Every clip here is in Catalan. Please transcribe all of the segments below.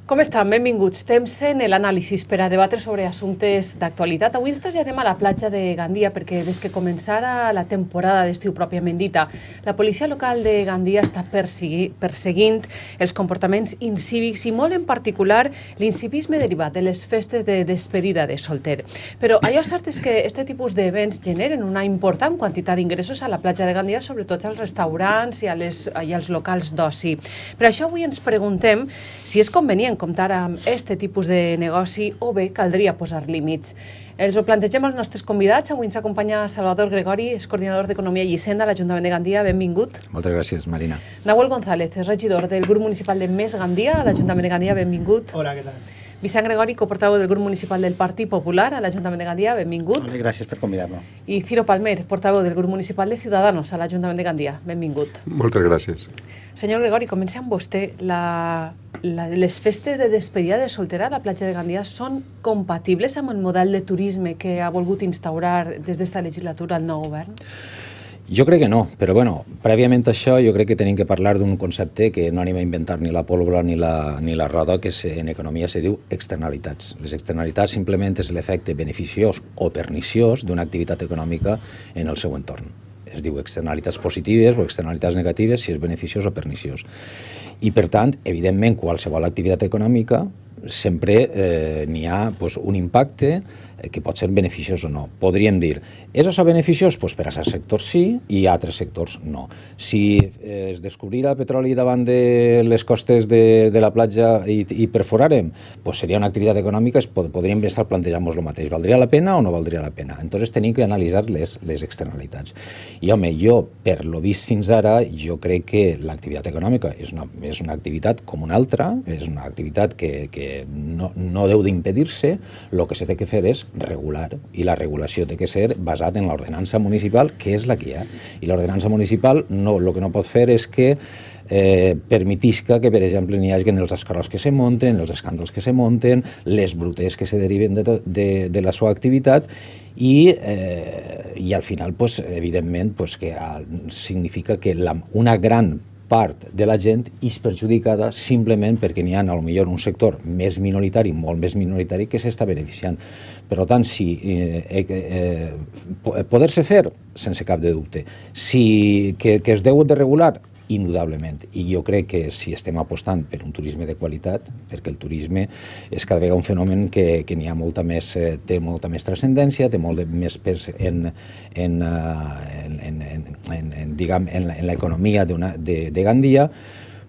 Com estan? Benvinguts. Temps en l'anàlisi per a debatre sobre assumptes d'actualitat. Avui ens traslladem a la platja de Gandia perquè des que començara la temporada d'estiu pròpiament dita, la policia local de Gandia està perseguint els comportaments incívics i molt en particular l'incivisme derivat de les festes de despedida de solter. Però allò cert és que aquest tipus d'events generen una important quantitat d'ingressos a la platja de Gandia, sobretot als restaurants i als locals d'oci. Per això avui ens preguntem si és convenient comptar amb aquest tipus de negoci o bé caldria posar límits. Els ho plantegem als nostres convidats. Avui ens acompanya Salvador Gregori, és coordinador d'Economia i Hisenda a l'Ajuntament de Gandia. Benvingut. Moltes gràcies, Marina. Nahuel González, és regidor del grup municipal de Més Gandia a l'Ajuntament de Gandia. Benvingut. Hola, què tal? Vicent Gregori, coportaveu del grup municipal del Partit Popular a l'Ajuntament de Gandia. Benvingut. Hola, gràcies per convidar-me. I Ciro Palmer, portaveu del grup municipal de Ciudadanos a l'Ajuntament de Gandia. Benvingut. Moltes gràcies. Senyor Gregori, comencem amb vostè. Les festes de despedida de soltera a la platja de Gandia són compatibles amb el model de turisme que ha volgut instaurar des d'esta legislatura el nou govern? Jo crec que no, però bueno, prèviament a això jo crec que tenim que parlar d'un concepte que no anem a inventar ni la pólvora ni la roda, que en economia se diu externalitats. Les externalitats simplement és l'efecte beneficiós o perniciós d'una activitat econòmica en el seu entorn. Es diu externalitats positives o externalitats negatives si és beneficiós o perniciós. I per tant, evidentment, qualsevol activitat econòmica sempre n'hi ha un impacte que pot ser beneficiós o no. Podríem dir, és això beneficiós? Doncs per a certs sectors sí i a altres sectors no. Si es descobrira petroli davant de les costes de la platja i perforàrem, doncs seria una activitat econòmica, podríem estar plantejant-nos el mateix. Valdria la pena o no valdria la pena? Entonces tenim que analitzar les externalitats. I home, per lo vist fins ara, jo crec que l'activitat econòmica és una activitat com una altra, és una activitat que no deu d'impedir-se, el que s'ha de fer és regular, i la regulació té que ser basat en l'ordenança municipal, que és la que hi ha. I l'ordenança municipal el que no pot fer és que permetisca que, per exemple, n'hi hagi els escarrots que se munten, els escàndols que se munten, les brutes que se deriven de la seva activitat i al final, evidentment, que significa que una gran part de la gent és perjudicada simplement perquè n'hi ha potser un sector més minoritari, molt més minoritari, que s'està beneficiant. Per tant, poder-se fer, sense cap de dubte. Que es deu de regular, indudablement. I jo crec que si estem apostant per un turisme de qualitat, perquè el turisme és cada vegada un fenomen que té molta més transcendència, té molt més pes en l'economia de Gandia,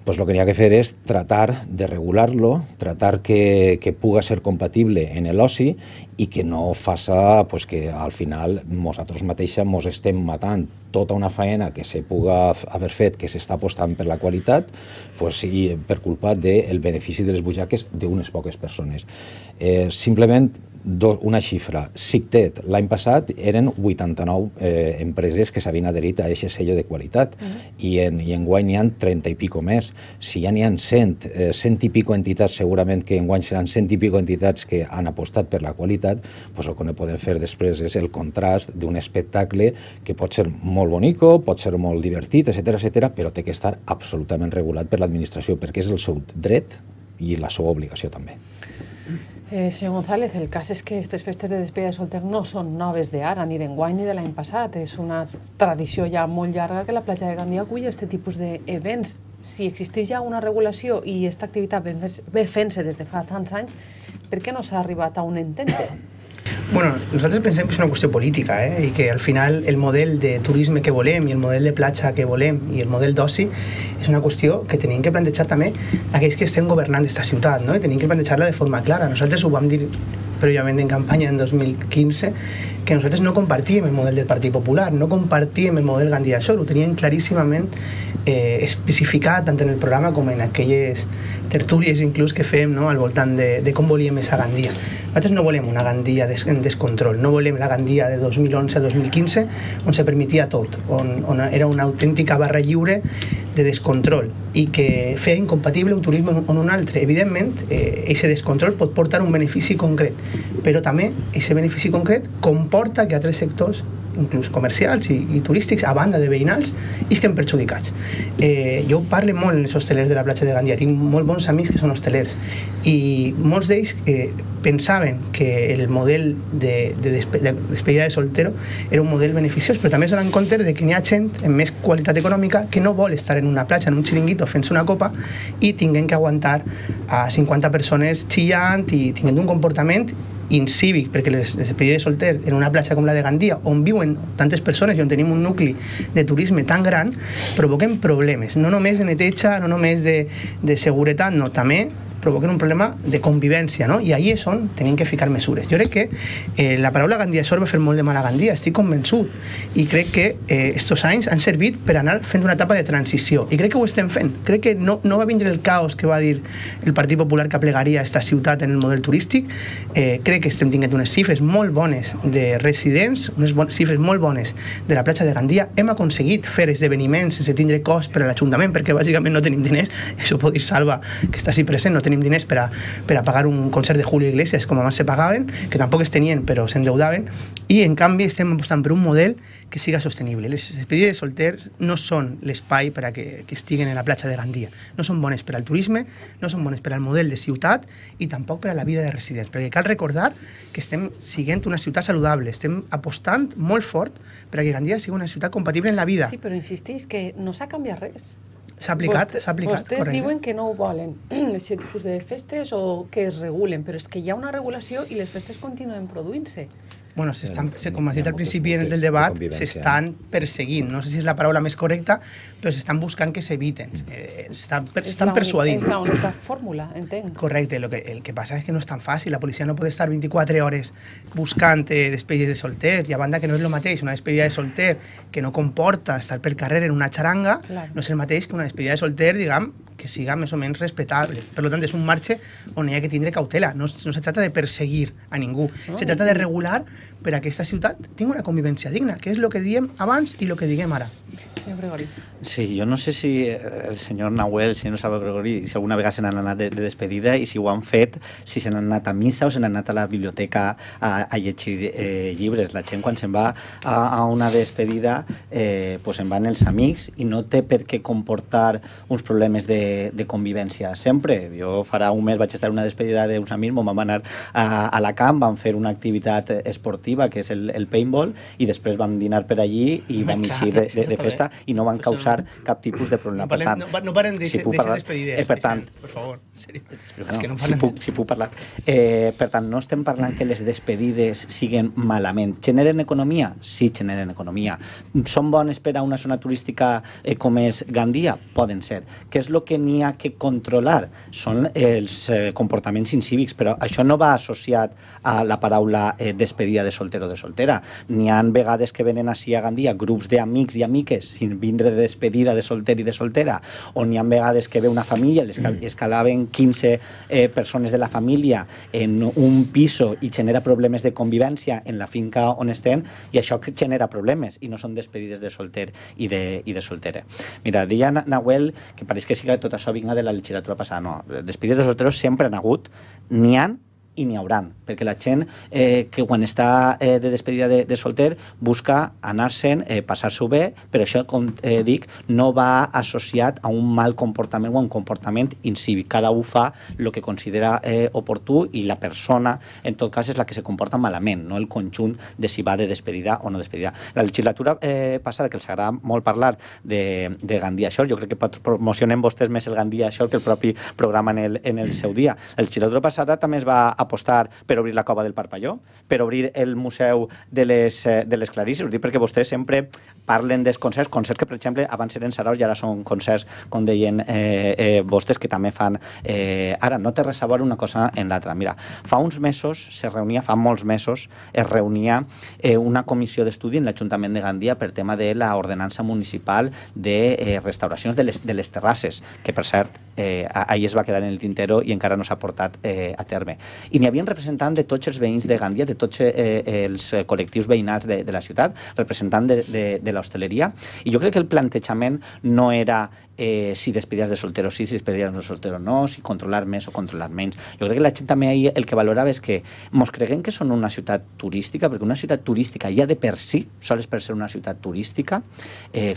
doncs el que n'hi ha que fer és tratar de regular-lo, tratar que puga ser compatible en l'oci i que no faça que al final nosaltres mateixos ens estem matant tota una feina que se puga haver fet, que s'està apostant per la qualitat, i per culpa del benefici de les butxaques d'unes poques persones. Simplement una xifra. SICTET l'any passat eren 89 empreses que s'havien adherit a aquest sello de qualitat i enguany n'hi ha 30 i pico més. Si ja n'hi ha 100 i pico entitats, segurament que enguany seran 100 i pico entitats que han apostat per la qualitat, el que no podem fer després és el contrast d'un espectacle que pot ser molt bonico, pot ser molt divertit, etc., però té que estar absolutament regulat per l'administració perquè és el seu dret i la seva obligació també. Senyor González, el cas és que aquestes festes de despedida de solter no són noves d'ara, ni d'enguany ni de l'any passat. És una tradició ja molt llarga que la platja de Gandia acull aquest tipus d'events. Si existeix ja una regulació i aquesta activitat ve fent-se des de fa tants anys, per què no s'ha arribat a un entente? Bueno, nosaltres pensem que és una qüestió política i que al final el model de turisme que volem i el model de platja que volem i el model d'oci és una qüestió que tenim que plantejar també aquells que estem governant aquesta ciutat, i tenim que plantejar-la de forma clara. Nosaltres ho vam dir prèviament en campanya en 2015 que nosaltres no compartíem el model del Partit Popular, no compartíem el model Gandia Shore, ho teníem claríssimament especificat tant en el programa com en aquelles tertúlies inclús que fem al voltant de com volíem aquesta Gandia. Nosaltres no volem una Gandia en descontrol, no volem la Gandia de 2011 a 2015 on se permetia tot, on era una autèntica barra lliure de descontrol i que feia incompatible un turisme o un altre. Evidentment, aquest descontrol pot portar un benefici concret, però també aquest benefici concret comporta porta que altres sectors, inclús comercials i turístics, a banda de veïnals, isquen perjudicats. Jo parlo molt amb els hostelers de la platja de Gandia, tinc molt bons amics que són hostelers, i molts d'ells pensaven que el model de despedida de soltero era un model beneficiós, però també es donen compte de que n'hi ha gent amb més qualitat econòmica que no vol estar en una platja, en un xiringuito, fent-se una copa i tinguem que aguantar a 50 persones xillant i tinguent un comportament incívic, perquè les despedides de solter en una platja com la de Gandia, on viuen tantes persones i on tenim un nucli de turisme tan gran, provoquen problemes, no només de neteja, no només de seguretat, no, també provoquen un problema de convivència, no? I ahí és on tenim que ficar mesures. Jo crec que la paraula Gandia Shore va fer molt de mal a Gandia, estic convençut, i crec que estos anys han servit per anar fent una etapa de transició, i crec que ho estem fent. Crec que no va vindre el caos que va dir el Partit Popular que aplegaria esta ciutat en el model turístic. Crec que estem tinguent unes xifres molt bones de residents, unes xifres molt bones de la platja de Gandia. Hem aconseguit fer esdeveniments sense tindre cost per a l'Ajuntament, perquè bàsicament no tenim diners. Això ho pot dir Salva, que està així present, no tenim diners per a pagar un concert de Julio Iglesias com abans se pagaven, que tampoc es tenien però s'endeudaven, i en canvi estem apostant per un model que siga sostenible. Les despedides de solters no són l'espai per a que estiguen en la platja de Gandia, no són bones per al turisme, no són bones per al model de ciutat i tampoc per a la vida de residents, perquè cal recordar que estem siguent una ciutat saludable, estem apostant molt fort per a que Gandia sigui una ciutat compatible en la vida. Sí, però insistís que no s'ha canviat res. S'ha aplicat, Vostès correcte. diuen que no ho volen, aquest tipus de festes, o que es regulen, però és que hi ha una regulació i les festes continuen produint-se. Bueno, com has dit al principi del debat, s'estan perseguint. No sé si és la paraula més correcta, però s'estan buscant que s'eviten. Estan persuadint. És l'única fórmula, entenc. Correcte. El que passa és que no és tan fàcil. La policia no pot estar 24 hores buscant despedides de solters, i a banda que no és el mateix una despedida de solter que no comporta estar pel carrer en una xaranga, no és el mateix que una despedida de solter, diguem, que siga més o menys respectable. Per tant, és un marge on hi ha que tindre cautela. No se trata de perseguir a ningú. Se trata de regular per a que aquesta ciutat tingui una convivència digna, que és el que diem abans i el que diguem ara. Senyor Gregori. Sí, jo no sé si el senyor Nahuel, el senyor Salvador Gregori, si alguna vegada se n'han anat de despedida i si ho han fet, si se n'han anat a missa o se n'han anat a la biblioteca a llegir llibres. La gent, quan se'n va a una despedida, pues se'n van els amics i no té per què comportar uns problemes de convivència sempre. Jo farà un mes vaig estar en una despedida d'uns amics, vam anar a la camp, vam fer una activitat esportiva que és el paintball, i després vam dinar per allí i vam eixir de festa i no van causar cap tipus de problema. No parem d'aixer despedides. Per tant, per favor, si puc parlar. Per tant, no estem parlant que les despedides siguen malament. Generen economia? Sí, generen economia. Són bones per a una zona turística com és Gandia? Poden ser. Què és el que n'hi ha que controlar? Són els comportaments incívics, però això no va associat a la paraula despedida de solter o de soltera. N'hi ha vegades que venen així a Gandia grups d'amics i amiques sin vindre de despedida de solter i de soltera, o n'hi ha vegades que ve una família, escalaven 15 persones de la família en un piso i genera problemes de convivència en la finca on estem, i això genera problemes i no són despedides de solter i de soltera. Mira, deia Nahuel que pareix que sí que tot això vinga de la legislatura passada. No, despedides de solteros sempre han hagut, n'hi ha i n'hi hauran, perquè la gent que quan està de despedida de solter busca anar-se'n, passar-s'ho bé, però això, com dic, no va associat a un mal comportament o a un comportament incívic. Cada un fa el que considera oportú i la persona, en tot cas, és la que se comporta malament, no el conjunt de si va de despedida o no despedida. La legislatura passada, que els agrada molt parlar de Gandia Shore, jo crec que promocionen vostès més el Gandia Shore que el propi programa en el seu dia. La legislatura passada també es va apostar per obrir la cova del Parpalló, per obrir el Museu de les Clarisses. Ho dic perquè vostès sempre parlen dels concerts que, per exemple, abans eren saraus i ara són concerts, com deien vostès, que també fan... Ara, no té res a veure una cosa en l'altra. Mira, fa uns mesos fa molts mesos, es reunia una comissió d'estudi en l'Ajuntament de Gandia per tema de l'ordenança municipal de restauracions de les terrasses, que, per cert, ahir es va quedar en el tintero i encara no s'ha portat a terme. I n'hi havia representant de tots els veïns de Gandia, de tots els col·lectius veïnals de la ciutat, representant de l'hostaleria, i jo crec que el plantejament no era si despedides de solteros sí, si despedides de solteros no, si controlar més o controlar menys. Jo crec que la gent també ahir el que valorava és que mos creguem que són una ciutat turística, perquè una ciutat turística ja de per si, sols per ser una ciutat turística,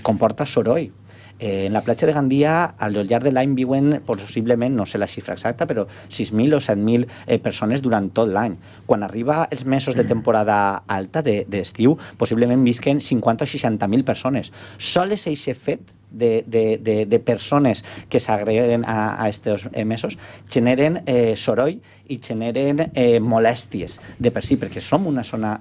comporta soroll. En la platja de Gandia, al llarg de l'any viuen possiblement, no sé la xifra exacta, però 6.000 o 7.000 persones durant tot l'any. Quan arriba els mesos de temporada alta, d'estiu, possiblement visquen 50 o 60.000 persones. Sols aquest fet de persones que s'agreguen a aquests mesos generen soroll i generen molèsties de per si, perquè som una zona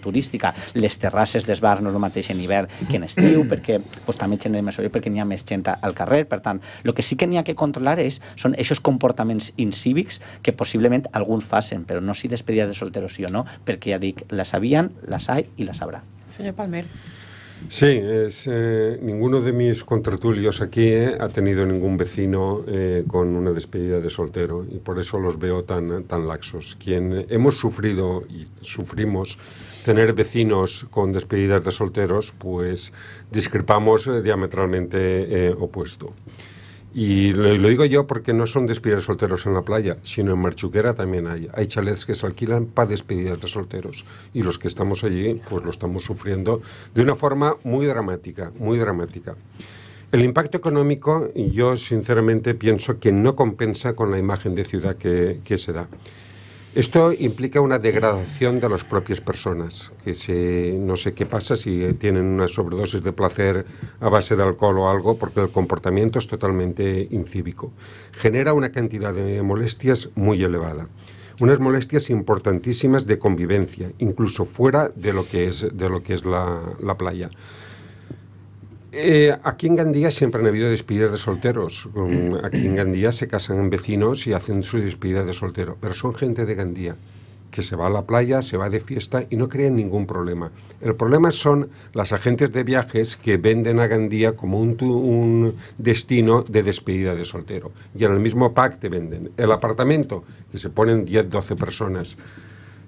turística. Les terrasses dels bars no és el mateix en hivern que en estiu, perquè també generen més soroll, perquè n'hi ha més gent al carrer. Per tant, el que sí que n'hi ha que controlar són aquests comportaments incívics que possiblement alguns facin, però no si despedides de solteros sí o no, perquè ja dic, la sabien, las hay y las habrá. Senyor Palmer. Sí, ninguno de mis contertulios aquí ha tenido ningún vecino con una despedida de soltero y por eso los veo tan laxos. Quien hemos sufrido y sufrimos tener vecinos con despedidas de solteros, pues discrepamos diametralmente opuesto. Y lo digo yo porque no son despedidas de solteros en la playa, sino en Marchuquera también hay. Hay chalets que se alquilan para despedidas de solteros y los que estamos allí pues lo estamos sufriendo de una forma muy dramática, muy dramática. El impacto económico yo sinceramente pienso que no compensa con la imagen de ciudad que se da. Esto implica una degradación de las propias personas, que no sé qué pasa si tienen una sobredosis de placer a base de alcohol o algo, porque el comportamiento es totalmente incívico. Genera una cantidad de molestias muy elevada, unas molestias importantísimas de convivencia, incluso fuera de lo que es la playa. Aquí en Gandía siempre han habido despedidas de solteros. Aquí en Gandía se casan vecinos y hacen su despedida de soltero. Pero son gente de Gandía que se va a la playa, se va de fiesta y no crean ningún problema. El problema son las agentes de viajes que venden a Gandía como un destino de despedida de soltero. Y en el mismo pack te venden el apartamento, que se ponen 10, 12 personas.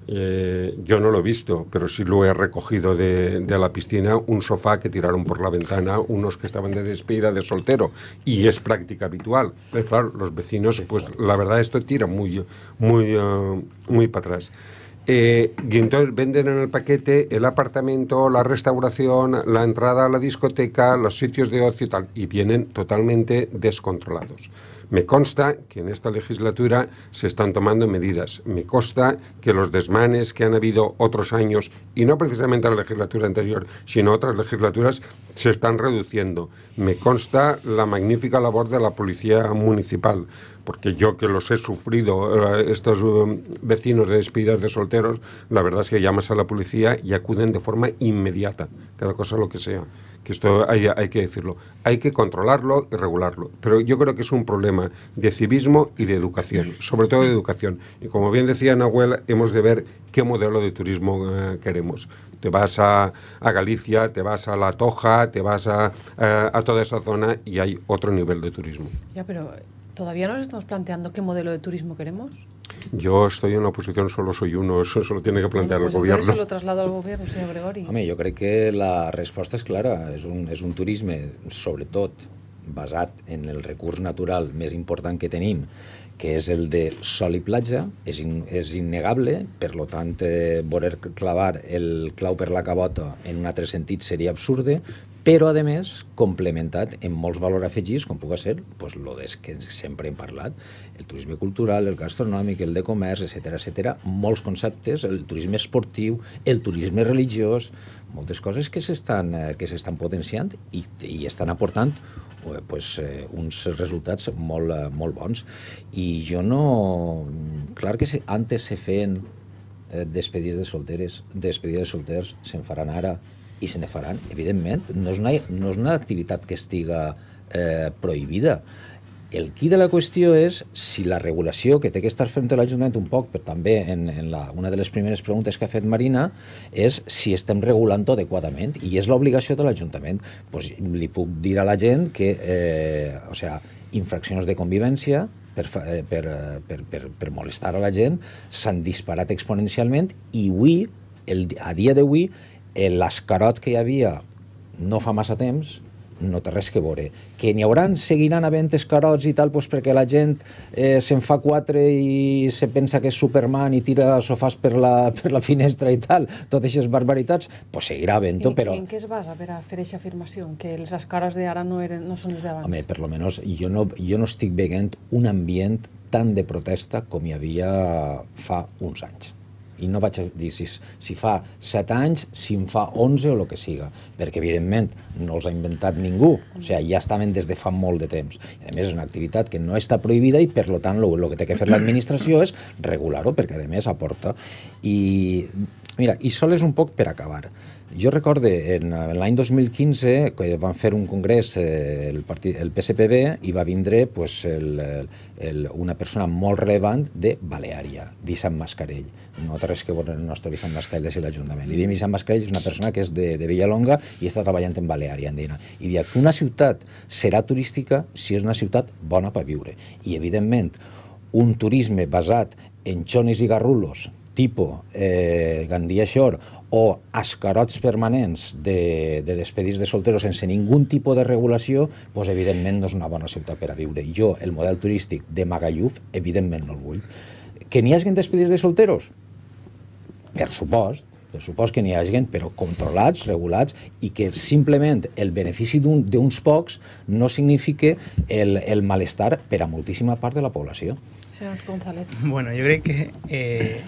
Yo no lo he visto, pero sí lo he recogido de la piscina, un sofá que tiraron por la ventana unos que estaban de despedida de soltero, y es práctica habitual. Pero claro, los vecinos, pues la verdad esto tira muy para atrás. Y entonces venden en el paquete el apartamento, la restauración, la entrada a la discoteca, los sitios de ocio y tal, y vienen totalmente descontrolados. Me consta que en esta legislatura se están tomando medidas. Me consta que los desmanes que han habido otros años, y no precisamente la legislatura anterior, sino otras legislaturas, se están reduciendo. Me consta la magnífica labor de la Policía Municipal, porque yo que los he sufrido, estos vecinos de despedidas de solteros, la verdad es que llamas a la policía y acuden de forma inmediata, cada cosa lo que sea. Que esto hay que decirlo, hay que controlarlo y regularlo, pero yo creo que es un problema de civismo y de educación, sobre todo de educación. Y como bien decía Nahuel, hemos de ver qué modelo de turismo queremos. Te vas a Galicia, te vas a La Toja, te vas a toda esa zona y hay otro nivel de turismo. Ya, pero ¿todavía nos estamos planteando qué modelo de turismo queremos? Yo estoy en la oposición, solo soy uno, eso se lo tiene que plantear el gobierno. Entonces se lo traslado al gobierno, senyor Gregori. Home, jo crec que la resposta és clara. És un turisme, sobretot, basat en el recurs natural més important que tenim, que és el de sol i platja, és innegable, per tant, voler clavar el clau per la cabota en un altre sentit seria absurde, però, a més, complementat amb molts valors afegits, com pugui ser el que sempre hem parlat, el turisme cultural, el gastronòmic, el de comerç, etc. Molts conceptes, el turisme esportiu, el turisme religiós, moltes coses que s'estan potenciant i estan aportant uns resultats molt bons. I jo no... Clar que antes se feien despedides de solters, se'n faran ara i se ne faran, evidentment. No és una activitat que estiga prohibida. El qui de la qüestió és si la regulació que té que estar fent l'Ajuntament un poc, però també una de les primeres preguntes que ha fet Marina, és si estem regulant-ho adequadament, i és l'obligació de l'Ajuntament. Pues li puc dir a la gent que infraccions de convivència per molestar a la gent s'han disparat exponencialment, i avui, a dia d'avui, l'escarot que hi havia no fa massa temps no té res que veure. Que n'hi seguiran havent escarots i tal, perquè la gent se'n fa 4 i se pensa que és Superman i tira sofàs per la finestra i tal, totes aquestes barbaritats, doncs seguirà havent-ho, però... En què es basa per a fer aquesta afirmació? Que els escarots d'ara no són els d'abans? Home, per lo menos jo no estic veient un ambient tan de protesta com hi havia fa uns anys. I no vaig dir si fa 7 anys, si en fa 11 o el que siga, perquè evidentment no els ha inventat ningú, o sigui, ja estaven des de fa molt de temps. I a més és una activitat que no està prohibida i per tant el que té que fer l'administració és regular-ho, perquè a més aporta. I mira, i sols un poc per acabar. Jo recordo l'any 2015 que van fer un congrés el PSPB i va vindre una persona molt relevant de Baleària, Vicent Mascarell. No té res que veure el nostre Vicent Mascarell de l'Ajuntament. I Vicent Mascarell és una persona que és de Villalonga i està treballant en Baleària andina. I diu que una ciutat serà turística si és una ciutat bona per viure. I evidentment un turisme basat en xonis i garrulos tipus Gandia Shore o escarots permanents de despedits de solteros sense ningun tipus de regulació, doncs evidentment no és una bona ciutat per a viure. I jo, el model turístic de Magaluf, evidentment no el vull. Que n'hi hagi despedits de solteros? Per supost que n'hi hagi, però controlats, regulats, i que simplement el benefici d'uns pocs no signifique el malestar per a moltíssima part de la població. Senyor González. Bueno, jo crec que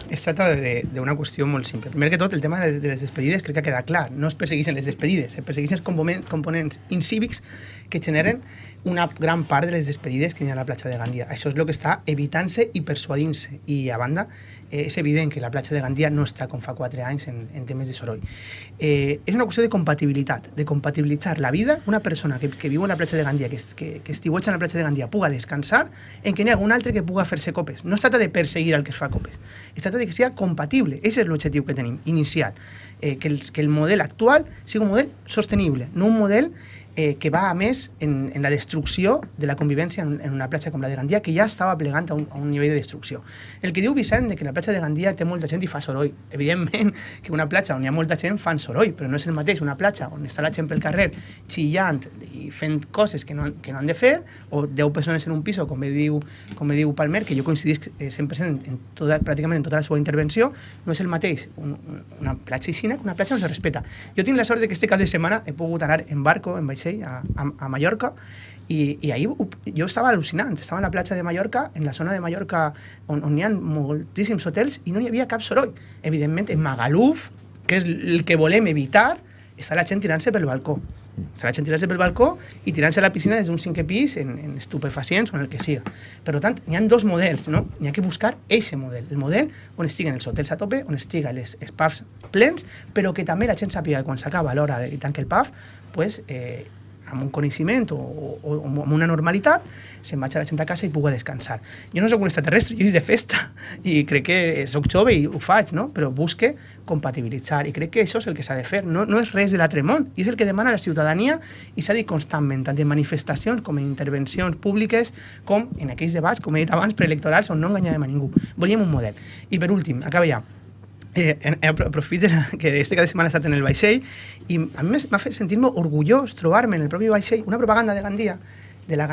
es tracta d'una qüestió molt simple. Primer que tot, el tema de les despedides crec que ha quedat clar. No es persegueixen les despedides, es persegueixen els components incívics que generen una gran part de les despedides que hi ha a la platja de Gandia. Això és el que està evitant-se i persuadint-se. I a banda, és evident que la platja de Gandia no està com fa 4 anys en temes de soroll. És una qüestió de compatibilitat, de compatibilitzar la vida. Una persona que viu en la platja de Gandia, que estiueja en la platja de Gandia, puga descansar, en que n'hi ha un altre que puga fer-se copes. No es tracta de perseguir al que es fa copes, es tracta de que sigui compatible. Aquest és l'objectiu que tenim, inicial. Que el model actual sigui un model sostenible, no un model que va a més en la destrucció de la convivència en una platja com la de Gandia, que ja estava plegant a un nivell de destrucció. El que diu Vicent de que la platja de Gandia té molta gent i fa soroll. Evidentment que una platja on hi ha molta gent fan soroll, però no és el mateix una platja on està la gent pel carrer xillant i fent coses que no han de fer, o 10 persones en un pis, com diu Palmer, que jo coincidisc 100% pràcticament en tota la seva intervenció. No és el mateix una platja aixina que una platja on se respeta. Jo tinc la sort de que este cap de setmana he pogut anar en barco, en vaixell, a Mallorca, i ahir jo estava al·lucinant. Estava a la platja de Mallorca, en la zona de Mallorca on hi ha moltíssims hotels i no hi havia cap soroll. Evidentment, en Magaluf, que és el que volem evitar, està la gent tirant-se pel balcó. Està la gent tirant-se pel balcó i tirant-se a la piscina des d'un 5è pis en estupefacients o en el que siga. Per tant, n'hi ha 2 models, no? N'hi ha que buscar aquest model. El model on estiguen els hotels a tope, on estiguen els pubs plens, però que també la gent sàpiga que quan s'acaba l'hora i tanca el pub, pues, amb un coneixement o amb una normalitat, se'n vaig a la gent a casa i puga descansar. Jo no soc un extraterrestre, jo és de festa, i crec que soc jove i ho faig, no? Però busque compatibilitzar, i crec que això és el que s'ha de fer. No és res de l'altre món, i és el que demana la ciutadania, i s'ha dit constantment, tant en manifestacions com en intervencions públiques, com en aquells debats, com he dit abans, preelectorals, on no enganyàvem a ningú. Volíem un model. I per últim, acaba ja. Aprofito que este cada setmana he estat en el vaixell i a mi m'ha fet sentir-me orgullós trobar-me en el propi vaixell una propaganda de Gandia, de la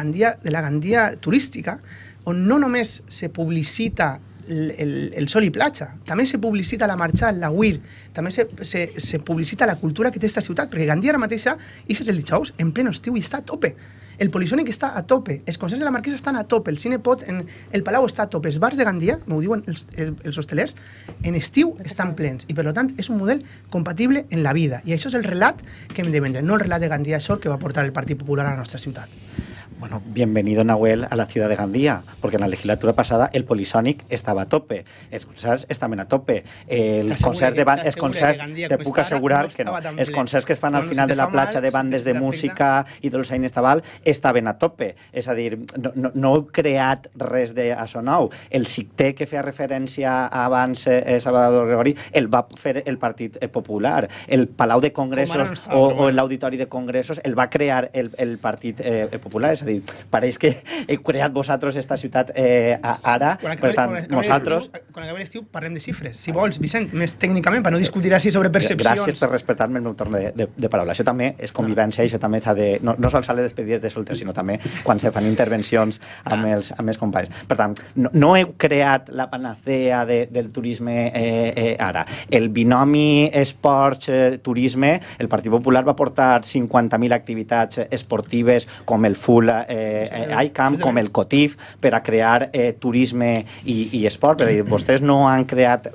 Gandia turística, on no només se publicita el sol i platja, també se publicita la marxal, la Weir, també se publicita la cultura que té aquesta ciutat, perquè Gandia ara mateixa, és el dijous, en pleno estiu, i està a tope. El Polisònic està a tope, els concerts de la Marquesa estan a tope, el Cinepot, el Palau està a tope, els bars de Gandia, m'ho diuen els hostelers, en estiu estan plens, i per tant és un model compatible en la vida, i això és el relat que hem de vendre, no el relat de Gandia Shore que va portar el Partit Popular a la nostra ciutat. Bueno, bienvenido Nahuel a la ciudad de Gandía, porque en la legislatura pasada el Polisònic estava a tope, els concerts estaven a tope, els concerts te puc assegurar que no, els concerts que es fan al final de la platja de bandes de música i de l'Oceà Estaval estaven a tope, és a dir, no heu creat res d'això nou. El CICTE que feia referència abans Salvador Gregori el va fer el Partit Popular, el Palau de Congressos o l'Auditori de Congressos el va crear el Partit Popular, és a dir, pareix que heu creat vosaltres esta ciutat ara, per tant, nosaltres... Quan acabem l'estiu parlem de xifres. Si vols, Vicent, més tècnicament, per no discutir així sobre percepcions... Gràcies per respectar-me el meu torn de paraula. Això també és convivència, això també s'ha de... No sols a les despedides de solters, sinó també quan se fan intervencions amb els companys. Per tant, no heu creat la panacea del turisme ara. El binomi esports-turisme, el Partit Popular va portar 50.000 activitats esportives com el Full ICAM, com el COTIF, per a crear turisme i esport. Per dir, vostès no han creat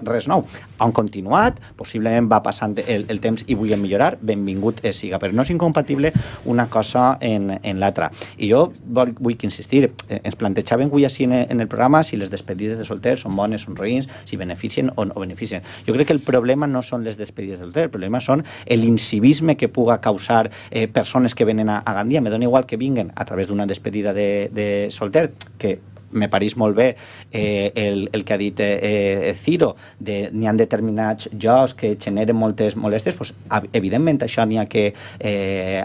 res nou. Han continuat, possiblement va passant el temps i vull millorar, benvingut siga, però no és incompatible una cosa en l'altra. I jo vull insistir, ens plantejàvem avui així en el programa si les despedides de solters són bones, són roïns, si beneficien o no beneficien. Jo crec que el problema no són les despedides de solters, el problema són l'incivisme que puga causar persones que venen a Gandia. Me dona igual que vinguen a través d'una despedida de solter, que me pareix molt bé el que ha dit Ciro, n'hi ha determinats jocs que generen moltes molèsties, doncs, evidentment això n'hi ha que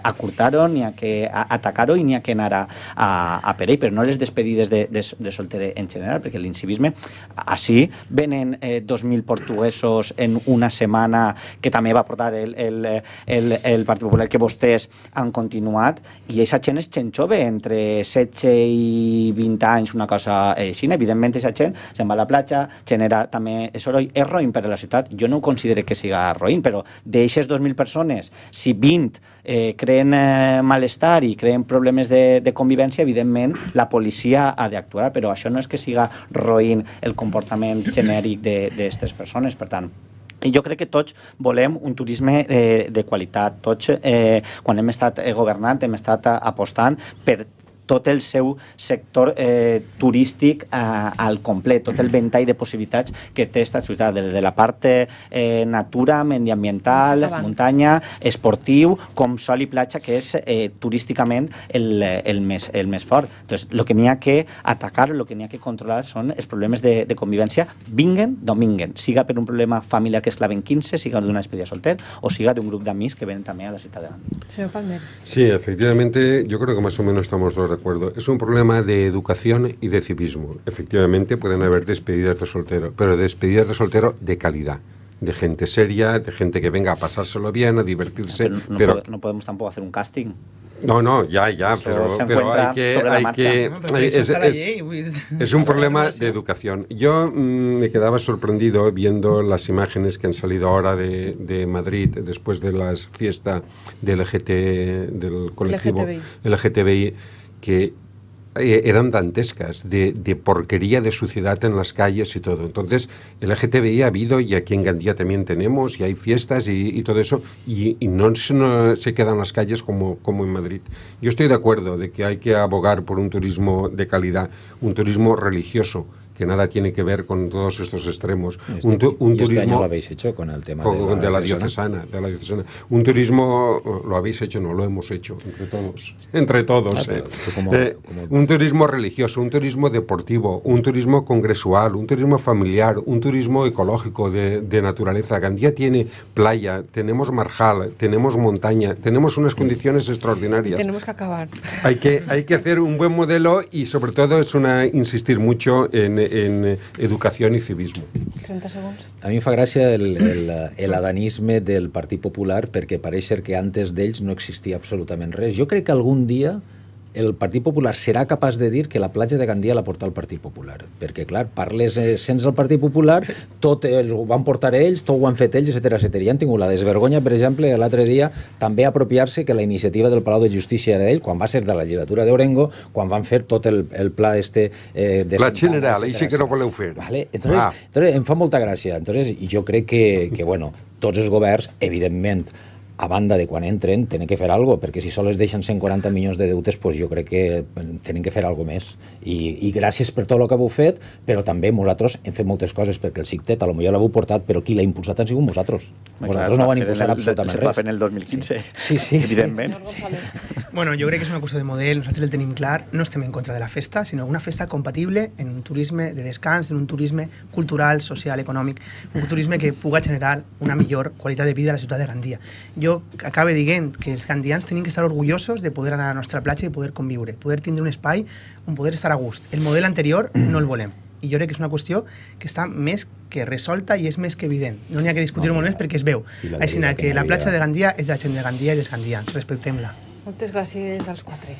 acurtar-ho, n'hi ha que atacar-ho i n'hi ha que anar a per ell, però no les despedides de solter en general, perquè l'incivisme, així venen 2.000 portuguesos en una setmana que també va portar el Partit Popular, que vostès han continuat, i aquesta gent és gent jove, entre 16 i 20 anys, una cosa així. Evidentment, aquesta gent se'n va a la platja, genera també soroll, és roïn per a la ciutat. Jo no ho considero que siga roïn, però d'aixes 2.000 persones, si 20 creen malestar i creen problemes de convivència, evidentment la policia ha d'actuar, però això no és que siga roïn el comportament genèric d'aquestes persones. Per tant, i jo crec que tots volem un turisme de qualitat. Tots, quan hem estat governant, hem estat apostant per tot el seu sector turístic al complet, tot el ventall de possibilitats que té aquesta ciutat, de la part natura, mediambiental, muntanya, esportiu, com sol i platja, que és turísticament el més fort. Entonces, el que n'hi ha que atacar, el que n'hi ha que controlar són els problemes de convivència, vinguen d'on vinguen, siga per un problema familiar que es claven 15, siga d'una despedida solter, o siga d'un grup d'amics que venen també a la ciutat de Gandia. Señor Palmer. Sí, efectivamente, yo creo que más o menos estamos todos de acuerdo. Es un problema de educación y de civismo. Efectivamente, pueden haber despedidas de soltero, pero despedidas de soltero de calidad, de gente seria, de gente que venga a pasárselo bien, a divertirse. Pero no podemos tampoco hacer un casting. No, ya, pero hay que es un problema de educación. Yo me quedaba sorprendido viendo las imágenes que han salido ahora de Madrid después de la fiesta del colectivo LGTBI, que eran dantescas, de porquería, de suciedad en las calles y todo. Entonces, el LGTBI ha habido, y aquí en Gandía también tenemos, y hay fiestas y todo eso, y no se quedan en las calles como en Madrid. Yo estoy de acuerdo de que hay que abogar por un turismo de calidad, un turismo religioso, que nada tiene que ver con todos estos extremos. Un turismo año lo habéis hecho con el tema de la diocesana. Un turismo lo habéis hecho, no lo hemos hecho entre todos. Un turismo religioso, un turismo deportivo, un turismo congresual, un turismo familiar, un turismo ecológico de naturaleza. Gandía tiene playa, tenemos marjal, tenemos montaña, tenemos unas condiciones extraordinarias. Tenemos que acabar. Hay que hacer un buen modelo y sobre todo insistir mucho en educació i civisme. 30 segons. A mi em fa gràcia l'adanisme del Partit Popular, perquè pareix ser que antes d'ells no existia absolutament res. Jo crec que algun dia el Partit Popular serà capaç de dir que la platja de Gandia la porta el Partit Popular, perquè clar, parles sense el Partit Popular, tot ho van portar ells, tot ho han fet ells, etc. I han tingut la desvergonya, per exemple, l'altre dia també apropiar-se que la iniciativa del Palau de Justícia era d'ell, quan va ser de la legislatura d'Orengo, quan van fer tot el pla de Pla general, això que no voleu fer. Entonces, em fa molta gràcia. Entonces, jo crec que bueno, tots els governs, evidentment, a banda de quan entren, tenen que fer alguna cosa, perquè si sols deixen 140 milions de deutes, pues jo crec que tenen que fer alguna més. I gràcies per tot el que heu fet, però també nosaltres hem fet moltes coses, perquè el CICTET potser l'heu portat, però qui l'ha impulsat han sigut vosaltres. Vosaltres no ho han impulsat absolutament res. Se va fer en el 2015, evidentment. Bueno, jo crec que és una qüestió de model, nosaltres el tenim clar, no estem en contra de la festa, sinó una festa compatible en un turisme de descans, en un turisme cultural, social, econòmic, un turisme que puga generar una millor qualitat de vida a la ciutat de Gandia. Jo acabe dient que els gandians tenim que estar orgullosos de poder anar a la nostra platja i poder conviure, poder tindre un espai on poder estar a gust. El model anterior no el volem. I jo crec que és una qüestió que està més que resolta i és més que evident. No n'hi ha que discutir-ho molt més perquè es veu. Així que la platja de Gandia és de la gent de Gandia i dels gandians. Respectem-la. Moltes gràcies als quatre.